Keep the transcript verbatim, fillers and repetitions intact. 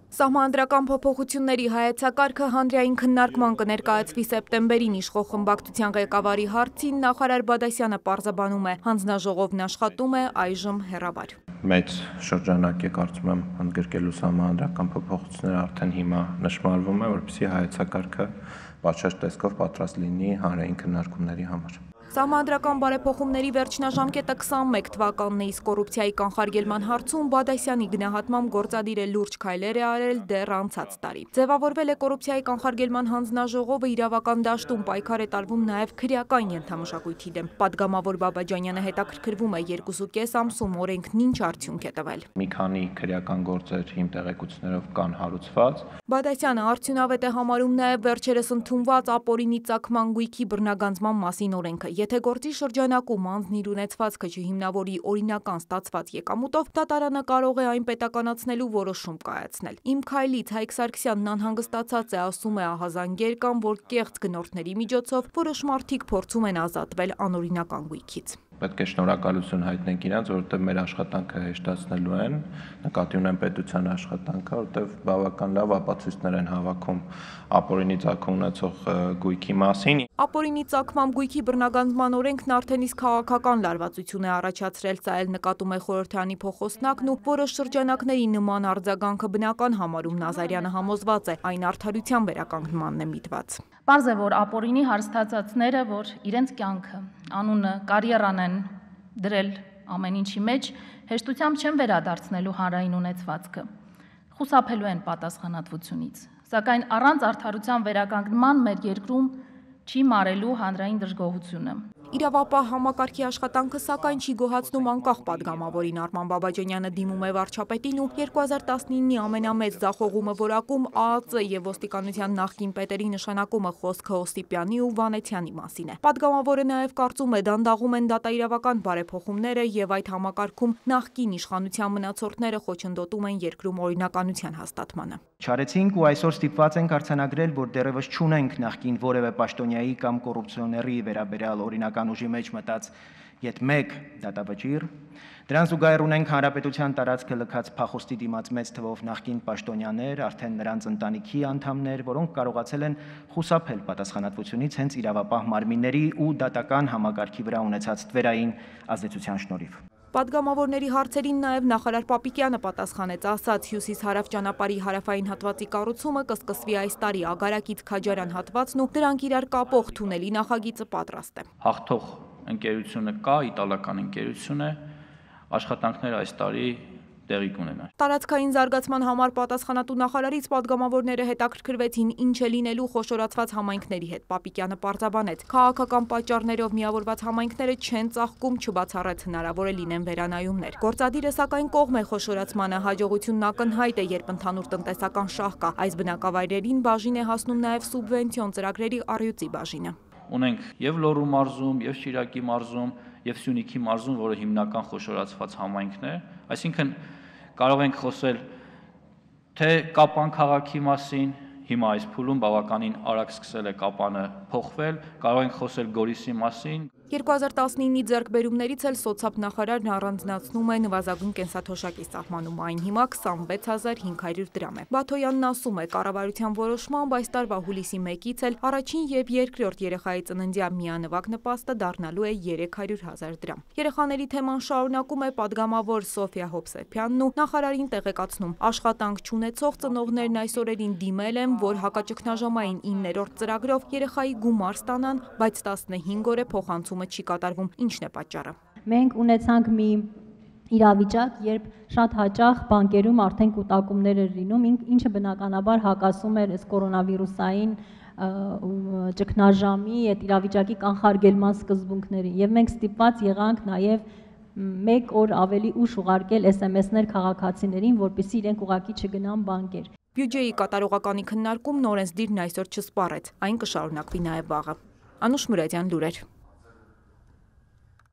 Սահմանադրական փոփոխությունների հայեցակարգը հանրային քննարկման կներկայացվի սեպտեմբերին իշխող խմբակցության ղեկավարի հարցին նախարար Բադասյանը պարզաբանում է, հանձնաժողովն աշխատում է այժմ հեռավար։ Մեծ շրջանակ է, կարծում եմ, ընդգրկելու սահմանադրական փոփոխությունները արդեն հիմա նշմարվում է, որպեսզի հայեցակարգը պատշաճ տեսքով պատրաստ լինի հանրային քննարկումների համար։ Սահմանադրական բարեփոխումների վերջնաժամկետը քսանմեկ թվականն է, իսկ կոռուպցիայի կանխարգելման հարցում Բադասյանի գնահատմամբ գործադիր է լուրջ քայլեր է արել դեռ անցած տարի։ Ձևավորվել է կոռուպցիայի կանխարգելման հանձնաժողովը, իրավական դաշտում պայքար է տարվում նաև քրեական ենթամշակույթի դեմ։ Պատգամավոր Բաբաջանյանը հետաքրքրվում է երկուսուկես ամսում օրենքն ինչ արդյունք է տվել։ Մի քանի քրեական գործեր իմ տեղեկություններով կան հարուցված։ Բադասյանը արդյունավետ է համարում նաև վերջերս ընդունված ապօրինի ծագման գույքի բռնագանձման մասին օրենքը։ Եթե գործի շրջանակում անձն իր ունեցվածքը չհիմնավորի օրինական ստացված եկամուտով, դատարանը կարող է այն պետականացնելու որոշում կայացնել։ Իմ քայլից Հայկ Սարգսյանն անհանգստացած է, ասում է ահազանգեր կան, որ կեղծ գնորդների միջոցով որոշ մարդիկ փորձում են ազատվել անօրինական գույքից։ Պետք է շնորհակալություն հայտնենք իրանց, որովհետև մեր աշխատանքը հեշտացնելու են, նկատի ունեմ պետության աշխատանքը, որովհետև բավական լավ ապացույցներ են հավաքում ապօրինի ծագում ունեցող գույքի մասին։ Ապօրինի ծագման գույքի բռնագանձման օրենքն արդեն իսկ քաղաքական լարվածություն է առաջացրել, սա էլ նկատում է խորհրդարանի փոխոսնակն ու որոշ շրջանակների նման արձագանքը բնական համարում Նազարյանը համոզված է, այն արդարության վերականգնմանն է միտված։ Պարզ է, որ ապօրինի հարստացածները, որ իրենց կյանքը, անունը, կարիերան են դրել ամեն ինչի մեջ, հեշտությամբ չեն վերադարձնելու հանրային ունեցվածքը, խուսափելու են պատասխանատվությունից, սակայն առանց արդարության վերականգնման մեր երկրում չի մարելու հանրային դժգոհությունը։ Իրավապահ համակարգի աշխատանքը սակայն չի գոհացնում անկախ պատգամավորին։ Արման Բաբաջանյանը դիմում է վարչապետին ու երկու հազար տասնինի ամենամեծ ձախողումը որակում ԱԱԾ եւ ոստիկանության նախկին պետերի նշանակումը խոսքը Օսիպյանի ու Վանեցյանի մասին է։ Պատգամավորը նաեւ կարծում է, դանդաղում են դատաիրավական բարեփոխումները եւ այդ համակարգում նախկին իշխանության մնացորդները խոչընդոտում են երկրում օրինականության հաստատմանը։ Չարեցինք ու այսօր ստիպված ենք արձանագրել, որ դեռևս չունենք նախկին որևէ պաշտոնյայի կամ կոռուպցիոների վերաբերյալ օրինական ուժի մեջ մտած յետ մեկ դատավճիռ։ Դրան զուգահեռ ունենք հանրապետության տարածքը լքած փախոստի դիմաց մեծ թվով նախկին պաշտոնյաներ, արդեն նրանց ընտանիքի անդամներ, որոնք կարողացել են խուսափել պատասխանատվությունից հենց իրավապահ մարմինների ու դատական համակարգի վրա ունեցած թվերային ազդեցության շնորհիվ։ Պատգամավորների հարցերին նաև նախարար Պապիկյանը պատասխանեց, ասաց հյուսիս-հարավ ճանապարհի հարավային հատվածի կառուցումը կսկսվի այս տարի, Ագարակից Քաջարյան հատվածն ու դրանք իրար կապող թունելի նախագիծը պատրաստ է։ Հաղթող ընկերությունը կա, իտալական ընկերություն է, աշխատանքները այս տարի տեղի կունենան։ Տարածքային զարգացման համար պատասխանատու նախարարից պատգամավորները հետաքրքրվեցին ինչ է լինելու խոշորացված համայնքների հետ։ Պապիկյանը պարզաբանեց, քաղաքական պատճառներով միավորված համայնքները չեն ծաղկում, չբացառեց հնարավոր է լինեն վերանայումներ։ Գործադիրը սակայն կողմ է խոշորացմանը, հաջողությունն ակնհայտ է, երբ ընդհանուր տնտեսական շահ կա։ Այս բնակավայրերին բաժին է հասնում նաև սուբվենցիոն ծրագրերի առյուծի բաժինը։ Ունենք եւ Լոռու մարզում, եւ Շիրակի մարզում, եւ Սյունիքի մարզում, որը հիմնական խոշորացված համայնքն է, այսինքն կարող ենք խոսել թե Կապան քաղաքի մասին, հիմա այս փուլում բավականին արագ սկսել է Կապանը փոխվել, կարող ենք խոսել Գորիսի մասին։ երկու հազար տասնինի ձեռքբերումներից էլ սոցիալ-նախարարն առանձնացնում է նվազագույն կենսաթոշակի սահմանում, այն հիմա քսանվեց հազար հինգ հարյուր դրամ է։ Բաթոյանն ասում է, կառավարության որոշմամբ այս տարվա հուլիսի մեկից էլ առաջին եւ երկրորդ երեխայի ծննդյան միանվագ նպաստը դառնալու է երեք հարյուր հազար դրամ։ Երեխաների թեման շարունակում է պատգամավոր Սոֆիա Հովսեփյանն ու նախարարին տեղեկացնում, աշխատանք չունեցող ծնողներն այս օրերին դիմել են, որ հակաճգնաժամային իններորդ ծրագրով երեխայի գումար ստանան, բայց տասնհինգ օր է փոխանցում չի կատարվում, ինչն է պատճառը։ Մենք ունեցանք մի իրավիճակ, երբ շատ հաճախ բանկերում արդեն կուտակումներ էր լինում, ինչը բնականաբար հակասում էր այս կորոնավիրուսային ճգնաժամի այդ իրավիճակի կանխարգելման սկզբունքներին, եւ մենք ստիպված եղանք նաեւ մեկ օր ավելի ուշ ուղարկել էս էմ էսներ քաղաքացիներին, որպեսզի իրենք ուղղակի չգնան բանկեր։ Բյուջեի կատարողականի քննարկումն օրենսդիրն այսօր չսպառեց, այն կշարունակվի նաև վաղը։ Անուշ Մուրադյան, լուրեր։